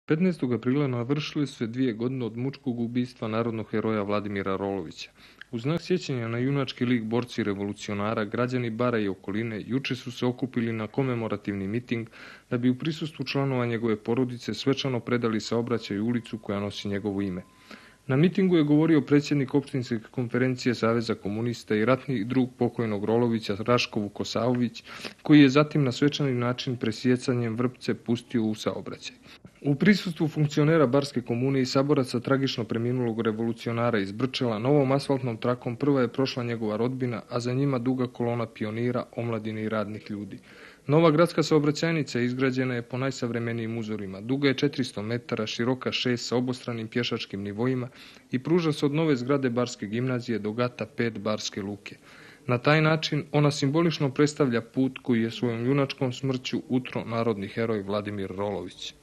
15. aprila navršile su se 2 godine od mučkog ubistva narodnog heroja Vladimira Rolovića. U znak sjećanja na junački lik borci revolucionara, građani Bara i okoline juče su se okupili na komemorativni miting da bi u prisustvu članova njegove porodice svečano predali saobraćaj u ulicu koja nosi njegovo ime. Na mitingu je govorio predsjednik opštinske konferencije Saveza komunista i ratni drug pokojnog Rolovića Raško Vukosavović, koji je zatim na svečani način presjecanjem vrpce pustio u saobraćaj. U prisustvu funkcionera Barske komune i saboraca tragično preminulog revolucionara iz Brčela, novom asfaltnom trakom prva je prošla njegova rodbina, a za njima duga kolona pionira, omladine i radnih ljudi. Nova gradska saobraćajnica izgrađena je po najsavremenijim uzorima. Duga je 400 metara, široka 6 sa obostranim pješačkim nivoima i pruža se od nove zgrade Barske gimnazije do gata 5 Barske luke. Na taj način ona simbolično predstavlja put koji je svojom junačkom smrću utro narodni heroj Vladimir Rolović.